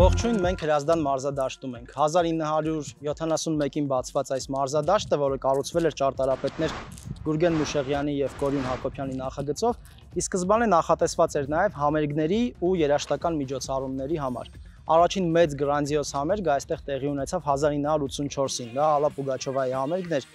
Ողջույն, մենք Հրազդան մարզադաշտում ենք։ 1971-ին բացված այս մարզադաշտը, որը կառուցվել էր ճարտարապետներ Գուրգեն Մուշեղյանի եւ Կորյուն Հակոբյանի նախագծով, ի սկզբանե նախատեսված էր նաեւ համերգների ու երաժշտական միջոցառումների համար։ Առաջին մեծ գրանձիոզ համերգը այստեղ տեղի ունեցավ 1984-ին, դա Ալլա Պուգաչովայի համերգն էր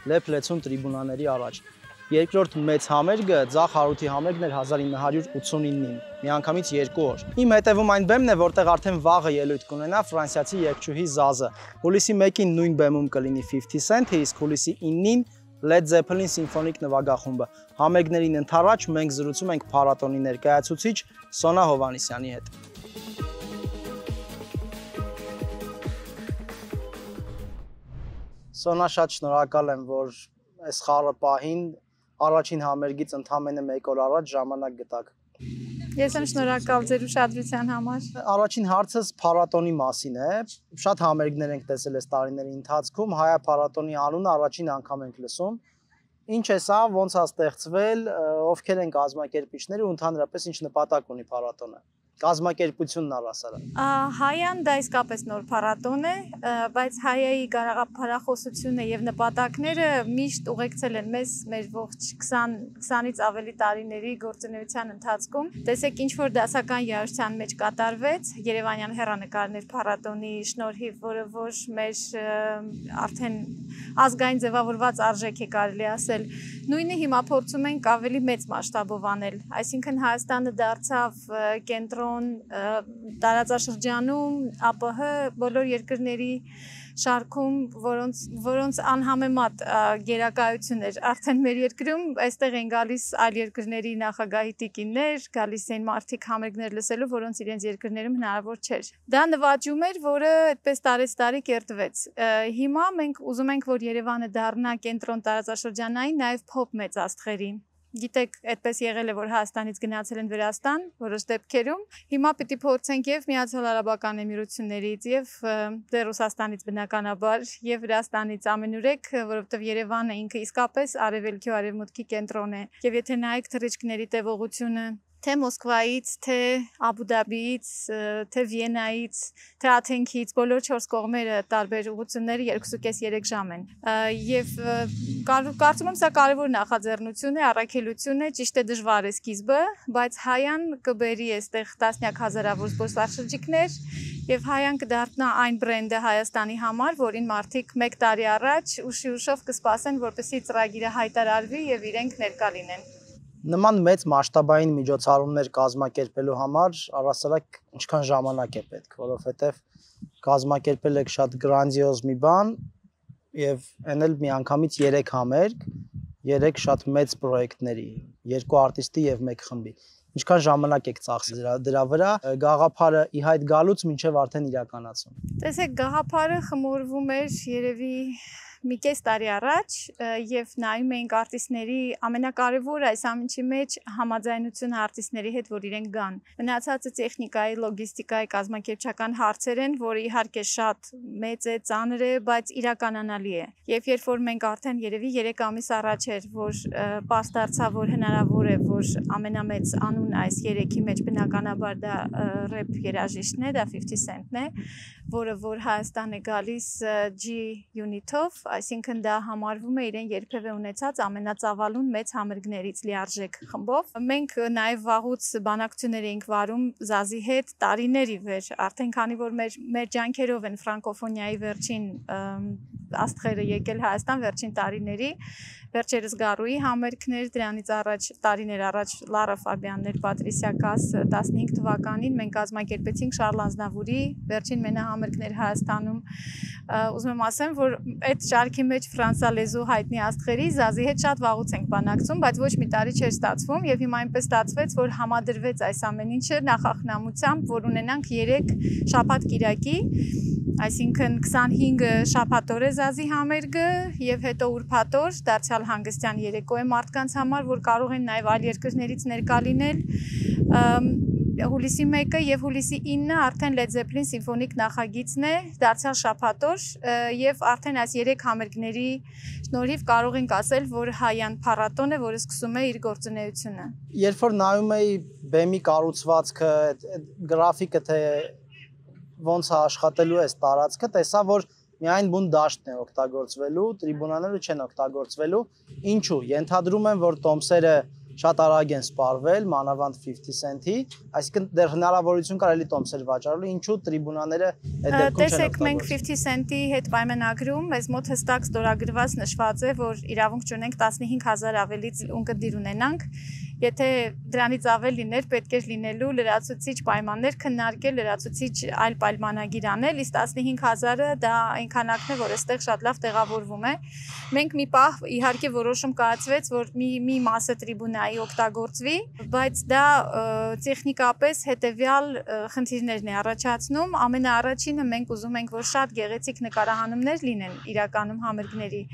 Լեփ Լեցուն տրիբունաների առաջ։ Երկրորդ մեծ համերգը Ձախ Հարութի համերգն էր 1989-ին, միանգամից 2 օր։ Իմ հետևում այն բեմն է, որտեղ արդեն վաղը ելույթ կունենա ֆրանսիացի երգչուհի Զազը։ Հուլիսի 1-ին նույն բեմում կլինի 50 Cent-ը, իսկ հուլիսի 9-ին Led Zeppelin սիմֆոնիկ նվագախումբը։ Համերգներին ընդառաջ մենք զրուցում ենք փառատոնի ներկայացուցիչ Սոնա Հովհաննիսյանի հետ։ Սոնա, շատ շնորհակալ եմ, որ այս խառը պահին առաջին համերգից ընդամենը 1 օր առաջ ժամանակ գտաք։ Ես եմ շնորհակալ ձեր ուշադրության համար։ Առաջին հարցս փառատոնի մասին է։ Շատ համերգներ ենք տեսել այս տարիների ընթացքում, Հայա փառատոնի անունը առաջին անգամ ենք լսում։ Ինչ է սա, ոնց է ստեղծվել, ովքեր են կազմակերպիչները ու ընդհանրապես ինչ նպատակ ունի փառատոնը։ Կազմակերպությունն առասարակ։ Հայան դա իսկապես նոր փառատոն է, բայց Հայայի գաղափարախոսությունը եւ նպատակները միշտ ուղեկցել են մեզ մեր ողջ 20-ից ավելի տարիների գործունեության ընթացքում։ Տեսեք, ինչ որ դասական երաժշտության մեջ կատարվեց Երևանյան հեռանկարներ փառատոնի շնորհիվ, որը որ մեր արդեն ազգային ձևավորված արժեք է կարելի ասել, նույնը հիմա փորձում ենք ավելի մեծ մասշտաբով անել, այսինքն Հայաստանը դարձավ կենտրոն տարածաշրջանում ԱՊՀ բոլոր երկրների շարքում, որոնց անհամեմատ գերակայություն էր արդեն մեր երկրում, այստեղ են գալիս այլ երկրների նախագահի տիկիններ, գալիս են մարդիկ համերգներ լսելու, որոնց իրենց երկրներում հնարավոր չէր։ Դա նվաճում էր, որը այդպես տարեցտարի կերտվեց։ Հիմա մենք ուզում ենք, որ Երևանը դառնա կենտրոն տարածաշրջանային նաև փոփ մեծ աստղերի։ Գիտեք, այդպես եղել է, որ Հայաստանից գնացել են Վրաստան, որոշ դեպքերում։ Հիմա պիտի փորձենք եւ Միացյալ Արաբական Էմիրություններից եւ դե Ռուսաստանից բնականաբար եւ Վրաստանից ամենուրեք, որովհետեւ Երևանը ինքը իսկապես արևելքի ու արևմուտքի կենտրոն է։ Եվ եթե նայեք թռիչքների տևողությունը թե Մոսկվայից, թե Աբու Դաբիից, թե Վիեննայից, թե Աթենքից, բոլոր 4 կողմերը տարբեր ուղղությունները 2.5-3 ժամ են։ Եվ կարծում եմ սա կարևոր նախաձեռնություն է, առաքելություն է, ճիշտ է դժվար է սկիզբը, բայց Հայան կբերի այստեղ տասնյակ հազարավոր զբոսաշրջիկներ եւ Հայան կդառնա այն բրենդը Հայաստանի համար, որին մարդիկ 1 տարի առաջ ուշով կսպասեն, որպեսզի ծրագիրը հայտարարվի եւ իրենք ներկա լինեն։ Նման մեծ մասշտաբային միջոցառումներ կազմակերպելու համար առասարակ ինչքան ժամանակ է պետք, որովհետև կազմակերպել եք շատ գրանձիոզ մի բան եւ այն էլ միանգամից 3 համերգ, 3 շատ մեծ պրոյեկտների, 2 արտիստի եւ 1 խմբի։ Ինչքան ժամանակ եք ծախսել դրա վրա, գաղափարը ի հայտ գալուց մինչեւ արդեն իրականացում։ Տեսեք, գաղափարը խմորվում էր երևի մի կես տարի առաջ եւ նայում էինք արտիստների ամենակարևորը այս ամենի մեջ համաձայնությունը արտիստների հետ, որ իրենք գան։ Մնացածը տեխնիկայի, լոգիստիկայի, կազմակերպչական հարցեր են, որը իհարկե շատ մեծ է, ծանր է, բայց իրականանալի է։ Եվ երբ որ մենք արդեն երևի 3 ամիս առաջ էր, որ պարզ դարձավ, որ հնարավոր է, որ ամենամեծ անուն այս 3-ի մեջ բնականաբար դա ռեփ երաժիշտն է, դա 50 Cent-ն է, որը որ Հայաստան է գալիս G Unit-ով, այսինքն դա համարվում է իրեն երբևէ ունեցած ամենածավալուն մեծ համերգներից լիարժեք խմբով։ Մենք նաև վաղուց բանակցություններ էինք վարում Զազի հետ տարիների վեր, արդեն քանի որ մեր ջանքերով են ֆրանկոֆոնիայի վերջին աստղերը եկել Հայաստան վերջին տարիների, վերջերս Գարուի համերգներ, դրանից առաջ տարիներ առաջ Լարա Ֆաբյաններ, Պատրիսիա Կաս 15 թվականին մենք կազմակերպեցինք Շարլ Ազնավուրի վերջին մենահամերգներ Հայաստանում։ Ուզում եմ ասեմ, որ այդ շարքի մեջ ֆրանսալեզու հայտնի աստղերի Զազի հետ շատ վաղուց ենք բանակցում, բայց ոչ մի տարի չէր ստացվում եւ հիմա այնպես ստացվեց, որ համադրվեց այս ամեն ինչը նախախնամությամբ, որ ունենանք 3 շաբաթ-կիրակի, այսինքն 25-ը շաբաթօր է Զազի համերգը եւ հետո ուրբաթօր դարձյալ հանգստյան երեկո է մարդկանց համար, որ կարող են նաեւ այլ երկրներից ներկա լինել։ Հուլիսի 1-ը եւ հուլիսի 9-ը արդեն Led Zeppelin սիմֆոնիկ նախագիծն է, դարձյալ շաբաթօր եւ արդեն այս 3 համերգների շնորհիվ կարող ենք ասել, որ Հայան փառատոն է, որը սկսում է իր գործունեությունը։ Երբ որ նայում էի բեմի կառուցվածքը, գրաֆիկը, թե ոնց է աշխատելու այս տարածքը, տեսա, որ միայն բուն դաշտն է օգտագործվելու, տրիբունաները չեն օգտագործվելու։ Ինչու՞։ Ենթադրում եմ, որ տոմսերը շատ արագ են սպառվել, մանավանդ 50 cent-ի, այսինքն դեռ հնարավորություն կար էլի տոմսեր վաճառելու, ինչու տրիբունաները այդ դեպքում չեն օգտագործվում։ Տեսեք, մենք 50 cent-ի հետ պայմանագրում մեզ մոտ հստակ ստորագրված նշված է, որ իրավունք չունենք 15000 ավելից ունկնդիր ունենանք։ Եթե դրանից ավել լիներ, պետք է լինելու լրացուցիչ պայմաններ քննարկել, լրացուցիչ այլ պայմանագիր անել, իսկ 15000-ը դա այնքանակն է, որ այստեղ շատ լավ տեղավորվում է։ Մենք մի պահ իհարկե որոշում կայացվեց, որ մի մասը տրիբունայի օգտագործվի, բայց դա տեխնիկապես հետևյալ խնդիրներն է առաջացնում։ Ամենաառաջինը մենք ուզում ենք, որ շատ գեղեցիկ նկարահանումներ լինեն իրականում համերգների,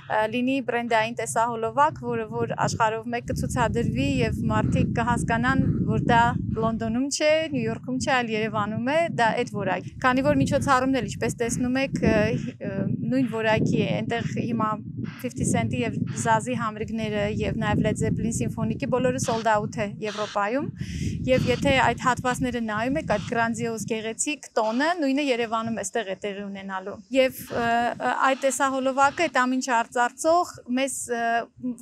լինի բրենդային տեսահոլովակ, որը որ աշխարհով մեկ կցուցադրվի եւ մարդիկ կհասկանան, որ դա Լոնդոնում չէ, Նյու Յորքում չէ, այլ Երևանում է, դա այդ որակ։ Քանի որ միջոցառումն էլ ինչպես տեսնում եք, նույն որակի է, այնտեղ հիմա 50 cent-ի եւ Զազի համերգները եւ նաեւ Led Zeppelin սիմֆոնիկի բոլորը sold out է Եվրոպայում, եւ եթե այդ հատվածները նայում եք, այդ գրանձիոզ գեղեցիկ տոնը նույնը Երևանում էստեղ է տեղի ունենալու։ Եվ այդ տեսահոլովակը այդ ամինչ արծարծող մեզ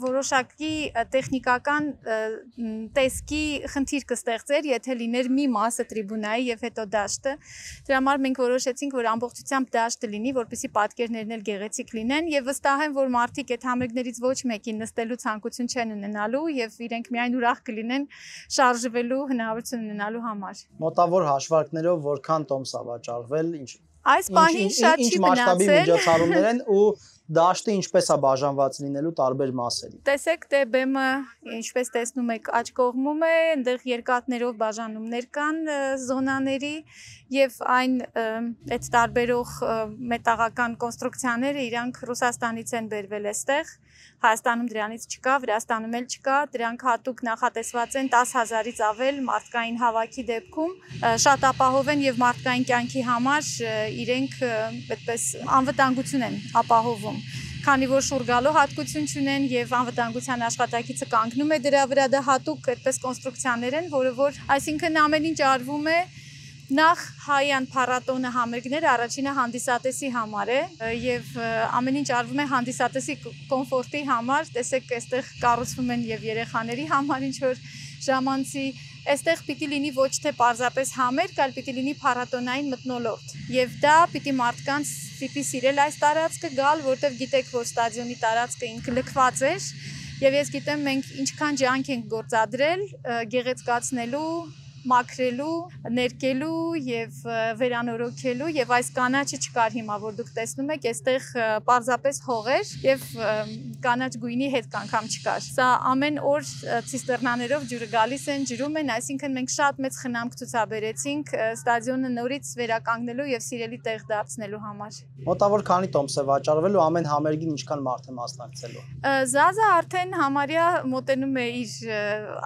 որոշակի տեխնիկական տեսքի խնդիր կստեղծեր, եթե լիներ մի մասը տրիբունայի եւ հետո դաշտը։ Դրա համար մենք որոշեցինք, որ ամբողջությամբ դաշտը լինի, որպեսզի պատկերներն էլ գեղեցիկ լինեն եւ վստահ եմ, որ մարդիկ այդ համերգներից ոչ մեկին նստելու ցանկություն չեն ունենալու եւ իրենք միայն ուրախ կլինեն շարժվելու հնարավորություն ունենալու համար։ Մոտավոր հաշվարկներով որքան տոմս է վաճառվել, այս պահին շատ չի մասշտաբի մնացել։ միջոցառումներ են ու դաշտը ինչպես է բաժանված լինելու տարբեր մասերի։ Տեսեք, դե բեմը ինչպես տեսնում եք աջ կողմում է, այնտեղ երկաթներով բաժանումներ կան զոնաների եւ այն այդ տարբերող մետաղական կոնստրուկցիաները իրանք Ռուսաստանից են բերվել այստեղ, Հայաստանում դրանից չկա, Վրաստանում էլ չկա, դրանք հատուկ նախատեսված են 10000-ից ավել մարդկային հավաքի դեպքում, շատ ապահով են եւ մարդկային կյանքի համար իրենք այդպես անվտանգություն են ապահովում։ Քանի որ շուրգալու հատկություն չունեն եւ անվտանգության աշխատակիցը կանգնում է դրա վրա, դա հատուկ այդպես կոնստրուկցիաներ են, որը որ այսինքն ամեն ինչ արվում է նախ հայյան փառատոնը համերգները առաջինը հանդիսատեսի համար է եւ ամեն ինչ արվում է հանդիսատեսի կոմֆորտի համար, տեսեք այստեղ կառուցվում են եւ երեխաների համար ինչ որ ժամանցի, այստեղ պիտի լինի ոչ թե պարզապես համերգ, այլ պիտի լինի փառատոնային մթնոլորտ եւ դա պիտի մարդկանց պիտի սիրել այս տարածքը գալ, որտեվ գիտեք որ ստադիոնի տարածքը ինքը լքված էր եւ ես գիտեմ մենք ինչքան ջանք ենք գործադրել գեղեցկացնելու մաքրելու, ներկելու եւ վերանորոգելու եւ այս կանաչը չկար հիմա որ դուք տեսնում եք, այստեղ պարզապես հող էր եւ կանաչ գույնի հետ անգամ չկար։ Սա ամեն օր ցիստերնաներով ջուրը գալիս են, ջրում են, այսինքն մենք շատ մեծ խնամք ցուցաբերեցինք ստադիոնը նորից վերականգնելու եւ սիրելի տեղ դարձնելու համար։ Մոտավոր քանի տոմս է վաճառվել ու ամեն համերգին ինչքան մարդ է մասնակցելու։ Զազը արդեն համարյա մոտենում է իր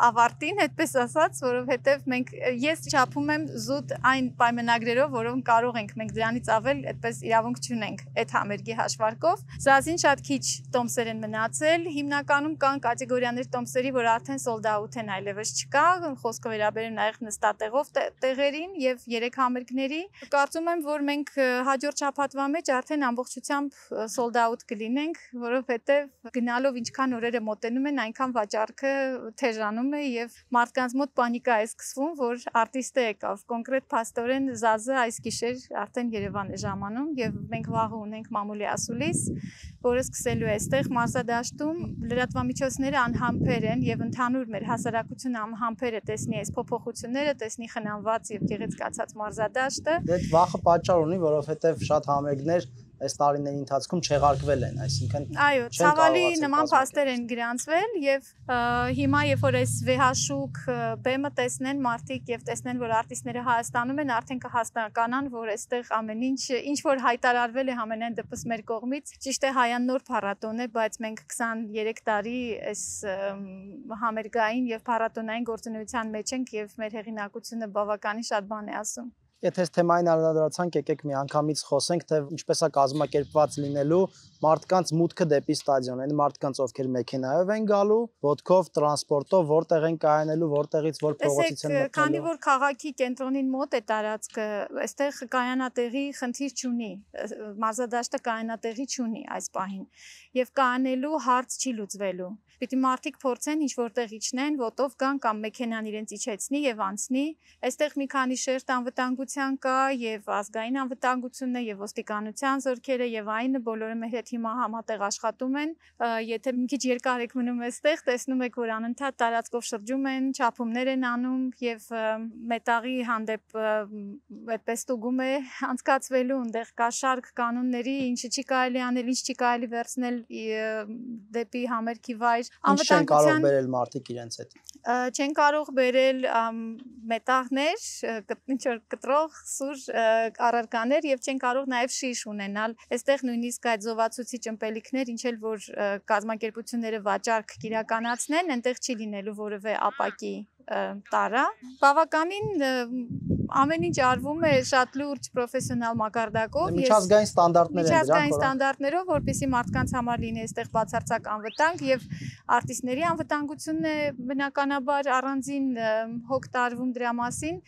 ավարտին, այդպես ասած, որովհետեւ մենք ես չափում եմ զուտ այն պայմանագրերով, որոնք կարող ենք մենք դրանից ավել այդպես իրավունք չունենք այդ համերգի հաշվարկով։ Զազին շատ քիչ տոմսեր են մնացել, հիմնականում կան կատեգորիաներ տոմսերի, որ արդեն sold out են, այլևս չկա, խոսքը վերաբերում նաև նստատեղով տեղերին եւ 3 համերգների։ Կարծում եմ, որ մենք հաջորդ շաբաթվա մեջ արդեն ամբողջությամբ sold out կլինենք, որովհետեւ գնալով ինչքան օրերը մոտենում են, այնքան վաճառքը թեժանում է եւ մարդկանց մոտ պանիկա է սկսվում, որ արտիստը եկավ, կոնկրետ փաստորեն Զազը այս գիշեր արդեն Երևան է ժամանում եւ մենք վաղը ունենք մամուլի ասուլիս, որը սկսելու է այստեղ մարզադաշտում, լրատվամիջոցները անհամբեր են եւ ընդհանուր մեր հասարակությունը անհամբեր է տեսնի այս փոփոխությունները, տեսնի խնամված եւ գեղեցկացած մարզադաշտը։ Դե վախը պատճառ ունի, որովհետեւ շատ համերգներ այս տարիների ընթացքում չեղարկվել են, այսինքն այո, ցավալի նման փաստեր են գրանցվել եւ հիմա երբ որ այս վեհաշուկ բեմը տեսնեն մարդիկ եւ տեսնեն որ արտիստները Հայաստանում են, արդեն կհասկանան որ այստեղ ամեն ինչ որ հայտարարվել է ամենայն դեպս մեր կողմից ճիշտ է հայան նոր փառատոն է, բայց մենք 23 տարի այս համերգային եւ փառատոնային գործունեության մեջ ենք եւ մեր հեղինակությունը բավականին շատ բան է ասում։ Եթե այս թեմային անդրադարձանք, եկեք միանգամից խոսենք, թե ինչպես է կազմակերպված լինելու մարդկանց մուտքը դեպի ստադիոն, այն մարդկանց, ովքեր մեքենայով են գալու, ոտքով, տրանսպորտով, որտեղ են կայանելու, որտեղից որ փողոցից են մտնելու։ Քանի որ քաղաքի կենտրոնին մոտ է տարածքը, այստեղ կայանատեղի խնդիր չունի, մարզադաշտը կայանատեղի չունի այս պահին, եւ կայանելու հարց չի լուծվելու։ Պիտի մարդիկ փորձեն ինչ որտեղ իջնեն, ոտով գան կամ մեքենան իրենց իջեցնի եւ անցնի։ Այստեղ մի քանի շերտ անվտանգության կա եւ ազգային անվտանգությունն է եւ ոստիկանության զորքերը եւ այնը բոլորը մեր հետ հիմա համատեղ աշխատում են։ Եթե մի քիչ երկար եք մնում այստեղ, տեսնում եք, որ անընդհատ տարածքով շրջում են, չափումներ են անում եւ մետաղի հանդեպ այդպես ստուգում է անցկացվելու, այնտեղ կա շարք կանոնների, ինչը չի կարելի անել, ինչ չի կարելի վերցնել դեպի համերգի վայր։ Ինչ չեն կարող բերել մարդիկ իրենց հետ։ Չեն կարող բերել մետաղներ, ինչ որ կտրող, սուր առարկաներ եւ չեն կարող նաեւ շիշ ունենալ։ Այստեղ նույնիսկ այդ զովացուցիչ ըմպելիքներ, ինչ էլ որ կազմակերպությունները վաճառք կիրականացնեն, այնտեղ չի լինելու որևէ ապակի տարա։ Բավականին ամեն ինչ արվում է շատ լուրջ պրոֆեսիոնալ մակարդակով, միջազգային ստանդարտներ են դրանք, միջազգային ստանդարտներով, որպեսզի մարդկանց համար լինի այստեղ բացարձակ անվտանգ եւ արտիստների անվտանգությունն է բնականաբար առանձին հոգ տարվում դրա մասին։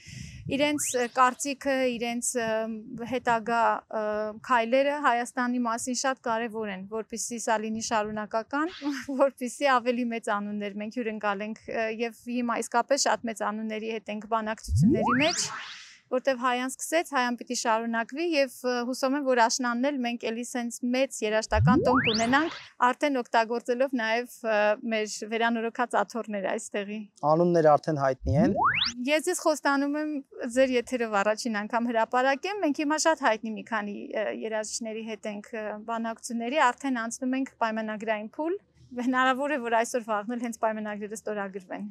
Իրենց կարծիքը, իրենց հետագա քայլերը Հայաստանի մասին շատ կարևոր են, որպեսզի սա լինի շարունակական, որպեսզի ավելի մեծ անուններ մենք հյուրընկալենք եւ հիմա իսկապես շատ մեծ անունների հետ ենք բանակցությունների մեջ, որտեվ հայան սկսեց, հայան պիտի շարունակվի եւ հուսով եմ, որ աշնանն էլ մենք էլի սենց մեծ երաժշտական տոն կունենանք, արդեն օգտագործելով նաեւ մեր վերանորոգած աթոռները այստեղի։ Անունները արդեն հայտնի են։ Ես ձեզ խոստանում եմ ձեր եթերով առաջին անգամ հրապարակեմ, մենք հիմա շատ հայտնի մի քանի երաժիշտների հետ ենք բանակցությունների, արդեն անցնում ենք պայմանագրային փուլ։ Հնարավոր է, որ այսօր վաղն հենց պայմանագրերը ստորագրվեն։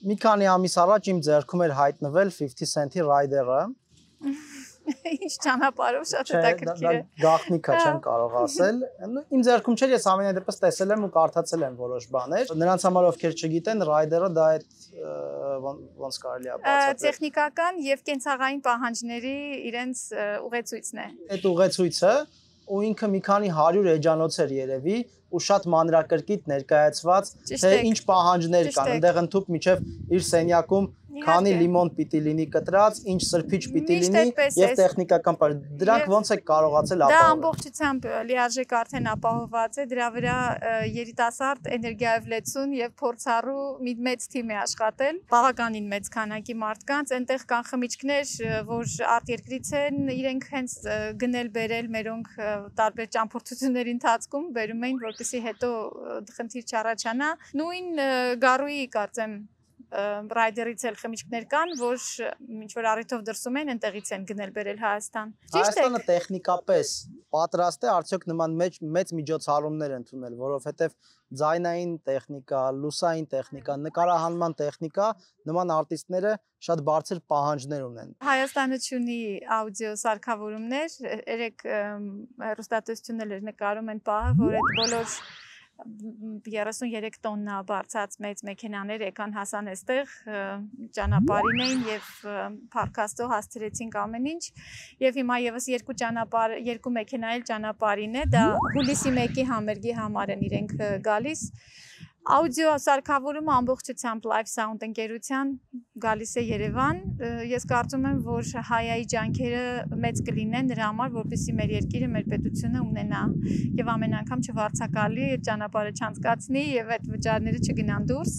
Մի քանի ամիս առաջ իմ ձեռքում էր հայտնվել 50 Cent-ի Rider-ը։ Ինչ ճանապարհով շատ հետաքրքիր է։ Գաղտնիքա չեմ կարող ասել։ Իմ ձեռքում չէր, ես ամենայն դեպս տեսել եմ ու կարդացել եմ որոշ բաներ։ Նրանց համար ովքեր չգիտեն, Rider-ը դա այդ ոնց կարելի է բացատրել։ Տեխնիկական եւ կենցաղային պահանջների իրենց ուղեցույցն է։ Այդ ուղեցույցը ու ինքը մի քանի 100 էջանոց էր երևի ու շատ մանրակրկիտ ներկայացված, թե ինչ պահանջներ կան, այնտեղ ընդհուպ միջև իր սենյակում քանի լիմոն պիտի լինի կտրած, ինչ սրբիչ պիտի լինի եւ տեխնիկական բան։ Դրանք ոնց է կարողացել ապահովել։ Դա ամբողջությամբ լիարժեք արդեն ապահովված է, դրա վրա երիտասարդ էներգիայով լեցուն եւ փորձառու մի մեծ թիմ է աշխատել, բավականին մեծ քանակի մարդկանց, այնտեղ կան խմիչքներ, որ արտերկրից են, իրենք հենց գնել բերել մերոնք տարբեր ճամփորդությունների ընթացքում բերում էին, որպեսզի հետո խնդիր չառաջանա։ Նույն գարուի կարծեմ Rider-ից էլ խմիչքներ կան, որ ինչ որ առիթով դրսում են, այնտեղից են գնել բերել Հայաստան։ Հայաստանը տեխնիկապես պատրաստ է արդյոք նման մեծ միջոցառումներ ընդունել, որովհետև ձայնային տեխնիկա, լուսային տեխնիկա, նկարահանման տեխնիկա, նման արտիստները շատ բարձր պահանջներ ունեն։ Հայաստանը ունի աուդիո սարքավորումներ, երեք հեռուստատեսություններ նկարում են պահը, որ այդ բոլոր 33 տոննա բարձած մեծ մեքենաներ եկան հասան այստեղ, ճանապարհին էին եւ փառքաստով հասցրեցինք ամեն ինչ եւ հիմա եւս երկու մեքենա էլ ճանապարհին է, դա հուլիսի 1-ի համերգի համար են իրենք գալիս։ Աուդիո սարքավորումը ամբողջությամբ Live Sound ընկերության գալիս է Երևան։ Ես կարծում եմ, որ հայայի ջանքերը մեծ կլինեն նրա համար, որպեսզի մեր երկիրը, մեր պետությունը ունենա եւ ամեն անգամ չվարձակալի այդ ճանապարհը չանցկացնի եւ այդ վճարները չգնան դուրս։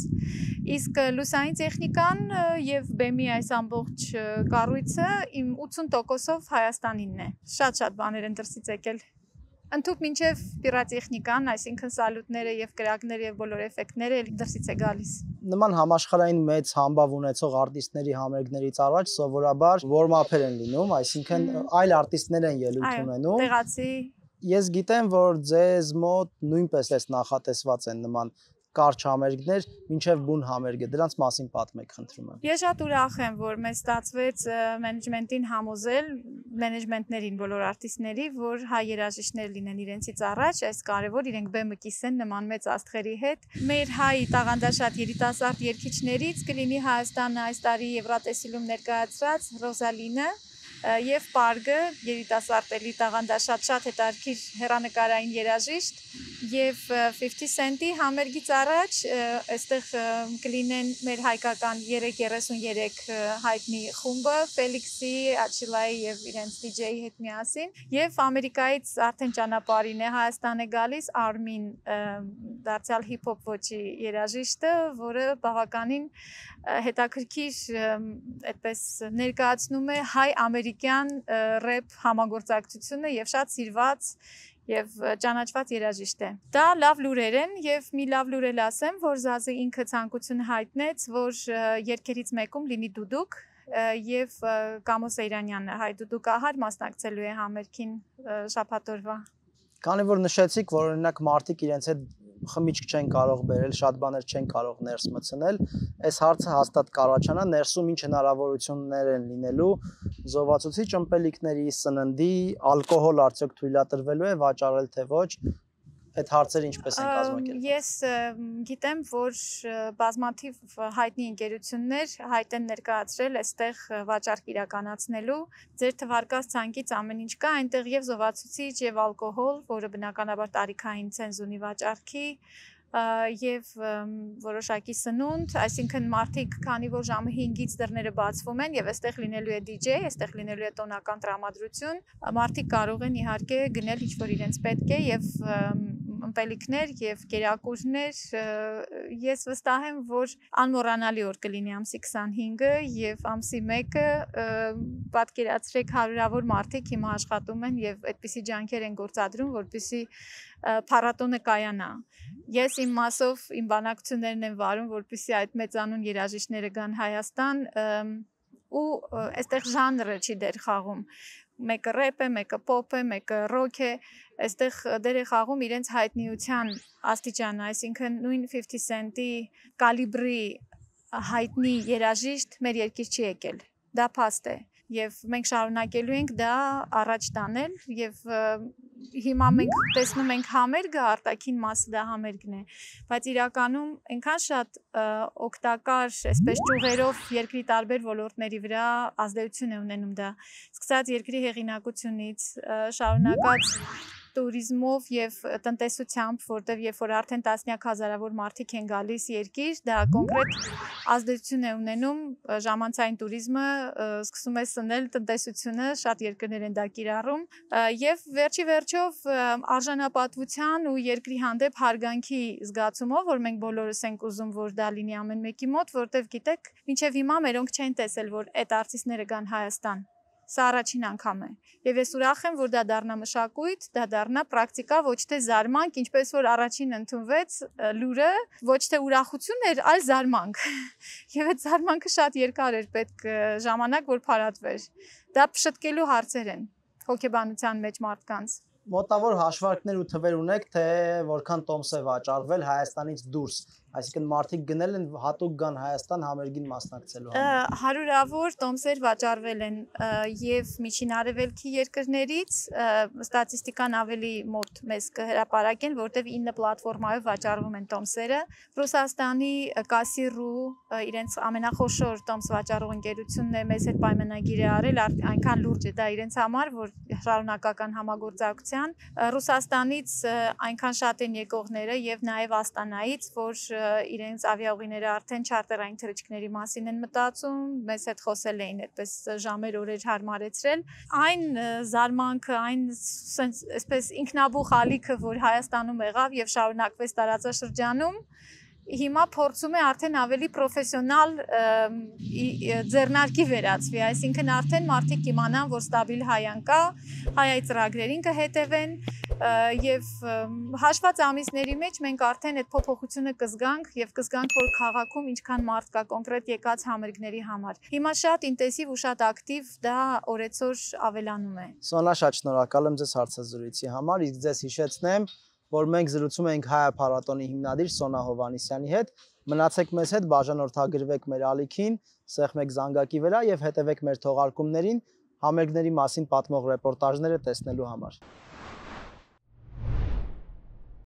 Իսկ լուսային տեխնիկան եւ բեմի այս ամբողջ կառույցը իմ 80%-ով Հայաստանինն է։ Շատ բաներ են դրսից եկել։ Ընդհուպ մինչև պիրատեխնիկան, այսինքն սալյուտները եւ կրակները եւ բոլոր էֆեկտները դրսից է գալիս։ Նման համաշխարհային մեծ համբավ ունեցող արտիստների համերգներից առաջ սովորաբար warm-up-եր են լինում, այսինքն այլ արտիստներ են ելույթ ունենում։ Տեղացի։ Ես գիտեմ, որ ձեզ մոտ նույնպես էս նախատեսված են նման կարճ համերգներ, մինչև բուն համերգը, դրանց մասին պատմեք, խնդրում եմ։ Ես շատ ուրախ եմ, որ մեզ ստացվեց մենեջմենտին համոզել, մենեջմենտներին, բոլոր արտիստների, որ հայ երաժիշտներ լինեն իրենցից առաջ, այս կարևոր իրենք բեմը կիսեն նման մեծ աստղերի հետ։ Մեր հայ տաղանդաշատ երիտասարդ երգիչներից կլինի Հայաստանը այս տարի Եվրատեսիլում ներկայացրած Ռոզալինը, եւ Պարգը երիտասարդ տաղանդաշատ շատ հետաքրքիր հեռանկարային երաժիշտ եւ 50 Cent-ի համերգից առաջ այստեղ կլինեն մեր հայկական 333 հայտնի խումբը Ֆելիքսի, Աչիլայի եւ իրենց DJ-ի հետ միասին եւ Ամերիկայից արդեն ճանապարհին է Հայաստան է գալիս Արմին դարձյալ հիփ-հոփ ոճի երաժիշտը, որը բավականին հետաքրքիր այդպես ներկայացնում է հայ-ամերիկյան ռեփ համագործակցությունը եւ շատ սիրված եւ ճանաչված երաժիշտ է։ Դա լավ լուրեր են եւ մի լավ լուր էլ ասեմ, որ Զազը ինքը ցանկություն հայտնեց, որ երգերից մեկում լինի դուդուկ եւ Կամո Սեյրանյանը հայ դուդուկահար մասնակցելու է համերգին շաբաթ օրվա։ Քանի որ նշեցիք, որ օրինակ մարդիկ իրենց հետ խմիչք չեն կարող բերել, շատ բաներ չեն կարող ներս մտցնել, այս հարցը հաստատ կառաջանա, ներսում ինչ հնարավորություններ են լինելու զովացուցիչ ըմպելիքների, սննդի, ալկոհոլ արդյոք թույլատրվելու է վաճառել թե ոչ, այդ հարցերը ինչպես են կազմակերպվել։ Ես գիտեմ, որ բազմաթիվ հայտնի ընկերություններ հայտ են ներկայացրել այստեղ վաճառք իրականացնելու, ձեր թվարկած ցանկից ամեն ինչ կա, այնտեղ եւ զովացուցիչ եւ ալկոհոլ, որը բնականաբար տարիքային ցենզ ունի վաճառքի, եւ որոշակի սնունդ, այսինքն մարդիկ, քանի որ ժամը 5-ից դռները բացվում են եւ այստեղ լինելու է DJ, այստեղ լինելու է տոնական տրամադրություն, մարդիկ կարող են իհարկե գնել ինչ որ իրենց պետք է եւ ըմպելիքներ եւ կերակուրներ, ես վստահ եմ, որ անմոռանալի օր կլինի ամսի 25-ը եւ ամսի 1-ը պատկերացրեք հարյուրավոր մարդիկ հիմա աշխատում են եւ այդպիսի ջանքեր են գործադրում, որպեսզի փառատոնը կայանա։ Ես իմ մասով իմ բանակցություններն եմ վարում, որպեսզի այդ մեծանուն երաժիշտները գան Հայաստան ու այստեղ ժանրը չի դեր խաղում։ Մեկը ռեփ է, մեկը պոպ է, մեկը ռոք է, այստեղ դեր է խաղում իրենց հայտնիության աստիճանը, այսինքն նույն 50 Cent-ի կալիբրի հայտնի երաժիշտ մեր երկիր չի եկել, դա փաստ է եւ մենք շարունակելու ենք դա առաջ տանել եւ հիմա մենք տեսնում ենք համերգը, արտաքին մասը դա համերգն է, բայց իրականում այնքան շատ օգտակար, այսպես ճյուղերով երկրի տարբեր ոլորտների վրա ազդեցություն է ունենում դա, սկսած երկրի հեղինակությունից, շարունակած տուրիզմով եւ տնտեսությամբ, որտեղ երբ որ արդեն տասնյակ հազարավոր մարդիկ են գալիս երկիր, դա կոնկրետ ազդեցություն է ունենում ժամանցային տուրիզմը, սկսում է սնել տնտեսությունը, շատ երկրներ են դա կիրառում եւ վերջի վերջով արժանապատվության ու երկրի հանդեպ հարգանքի զգացումով, որ մենք բոլորս ենք ուզում, որ դա լինի ամեն մեկի մոտ, որտեղ գիտեք, մինչեւ հիմա մերոնք չեն տեսել, որ այդ արտիստները գան Հայաստան։ Սա առաջին անգամ է։ Եվ ես ուրախ եմ, որ դա դառնա մշակույթ, դա դառնա պրակտիկա, ոչ թե զարմանք, ինչպես որ առաջին ընդունվեց լուրը, ոչ թե ուրախություն էր, այլ զարմանք։ Եվ այդ զարմանքը շատ երկար էր պետք ժամանակ, որ փարատվեր։ Դա փշտկելու հարցեր են հոգեբանության մեջ մարդկանց։ Մոտավոր հաշվարկներ ու թվեր ունեք, թե որքան տոմս է վաճառվել Հայաստանից դուրս, այսինքն մարդիկ գնել են հատուկ գան Հայաստան համերգին մասնակցելու համար։ Հարյուրավոր տոմսեր վաճառվել են եւ միջին արևելքի երկրներից, ստատիստիկան ավելի մոտ մեզ կհրապարակեն, որտեղ 9 պլատֆորմայով վաճառվում են տոմսերը։ Ռուսաստանի Կասիրու իրենց ամենախոշոր տոմս վաճառող ընկերությունն է մեզ հետ պայմանագիր է արել, այնքան լուրջ է դա իրենց համար, որ շարունակական համագործակցության Ռուսաստանից այնքան շատ են եկողները եւ նաեւ Աստանայից, որ իրենց ավիաուղիները արդեն չարտերային թռիչքների մասին են մտածում, մեզ հետ խոսել էին այդպես ժամեր օրեր հարմարեցրել։ Այն զարմանքը, այն այսպես ինքնաբուխ ալիքը, որ Հայաստանում եղավ եւ շարունակվեց տարածաշրջանում, հիմա փորձում է արդեն ավելի պրոֆեսիոնալ ձեռնարկի վերածվի, այսինքն արդեն մարդիկ իմանան, որ ստաբիլ հայան կա, հայայի ծրագրերին կհետևեն եւ հաշված ամիսների մեջ մենք արդեն այդ փոփոխությունը կզգանք եւ կզգանք, որ քաղաքում ինչքան մարդ կա կոնկրետ եկած համերգների համար։ Հիմա շատ ինտենսիվ ու շատ ակտիվ դա օրեցօր ավելանում է։ Սոնա, շատ շնորհակալ եմ ձեզ հարցազրույցի համար, իսկ ձեզ հիշեցնեմ, որ մենք զրուցում ենք Հայ փառատոնի հիմնադիր Սոնա Հովհաննիսյանի հետ։ Մնացեք մեզ հետ, բաժանորդագրվեք մեր ալիքին, սեղմեք զանգակի վրա եւ հետևեք մեր թողարկումներին համերգների մասին պատմող ռեպորտաժները տեսնելու համար։